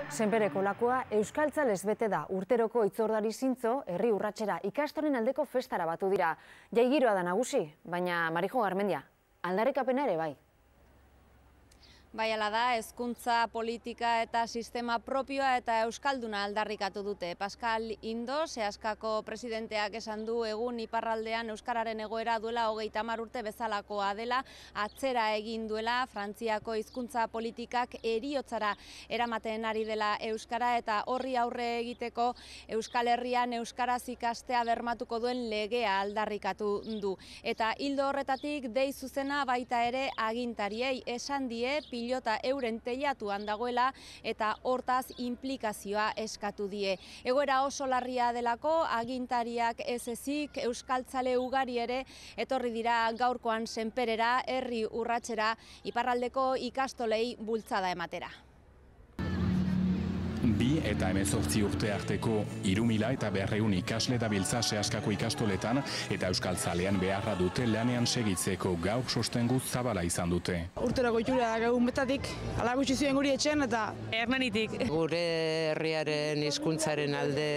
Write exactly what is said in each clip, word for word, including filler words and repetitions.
Senpereko lakoa euskaltzalez bete da. Urteroko itzordari zintzo, herri urratsera ikastolen aldeko festara batu dira. Jai giroa da nagusi, baina Marijo Garmendia, aldarrikapena ere bai. Bai, ala da, hezkuntza, politika eta sistema propioa eta euskalduna aldarrikatu dute. Pascal Indo, Seaskako presidenteak esan du egun iparraldean euskararen egoera duela hogeita hamar urte bezalakoa dela, atzera egin duela Frantziako hizkuntza politikak heriotzara eramaten ari dela euskara eta horri aurre egiteko Euskal Herrian euskaraz ikastea bermatuko duen legea aldarrikatu du. Eta ildo horretatik dei zuzena baita ere agintariei esan die pilota euren teilatuan dagoela eta hortaz inplikazioa eskatu die. Egoera oso larria delako agintariak ez ezik euskaltzale ugari ere etorri dira gaurkoan Senperera, herri urratsera, iparraldeko ikastolei bultzada ematera. Bi eta hemezortzi urte arteko hiru mila eta berrehun ikasle dabiltza Seaskako ikastoletan eta euskaltzalean beharra dute lanean segitzeko gaur sostengu zabala izan dute. Urterako itxura egun betatik, ala gutxi zuen guri etxen eta Hernanitik. Gure herriaren hizkuntzaren alde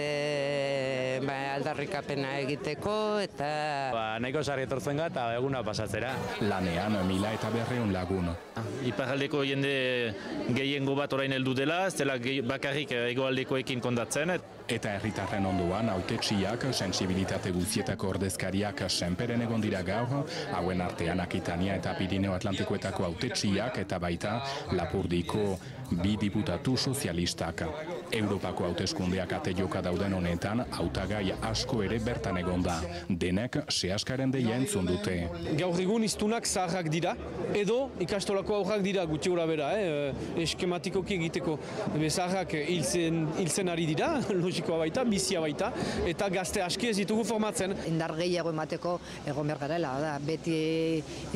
ba, aldarrikapena egiteko eta... Ba, nahiko sarri etortzen ga eta eguna pasatzera. Lanean mila eta berrehun lagun. Iparraldeko jende gehiengo bat orain heldu dela, ez dela bakarrik hegoaldekoekin kondatzen. Eta herritarren ondoan hautetsiak, sentsibilitate guztietako ordezkariak Senperen egon dira gaur, hauen artean Akitania eta Pirineo Atlantikoetako hautetsiak eta baita Lapurdiko bi diputatu sozialistak. Europako hauteskundeak ate joka dauden honetan, hautagai asko ere bertan egon da. Denek Seaskaren deia entzun dute. Gaur egun hiztunak zaharrak dira, edo ikastolako aurrak dira gutxi gora bera, eh? eskematikoki egiteko. Zaharrak hiltzen ari dira, logikoa baita, bizia baita, eta gazte aski ez ditugu formatzen. Indar gehiago emateko egon behar garela, da, beti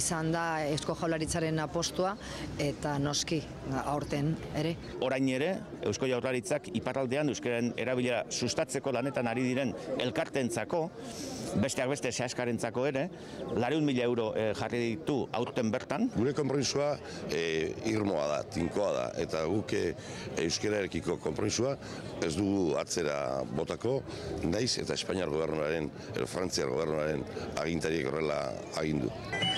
izan da Eusko Jaurlaritzaren apostua, eta noski aurten ere. Orain ere, Eusko Jaurlaritzak iparraldean euskararen erabilera sustatzeko lanetan ari diren elkartentzako, besteak beste Seaskarentzako ere, laurehun mila euro e, jarri ditu aurten bertan. Gure konpromisua e, irmoa da, tinkoa da, eta guk e, euskararekiko konpromisua ez dugu atzera botako, naiz eta Espainiar gobernuaren, edo Frantziar gobernuaren agintariek horrela agindu.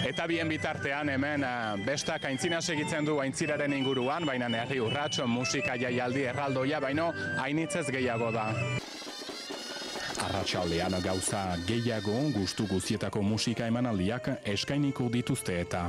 Eta bien bitartean hemen bestak aintzina segitzen du aintziraren inguruan, baina herri urrats, musika jaialdi erraldoia, baino hainitzez gehiago da. Arratsaldean gauza gehiago gustu guztietako musika emanaldiak eskainiko dituzte eta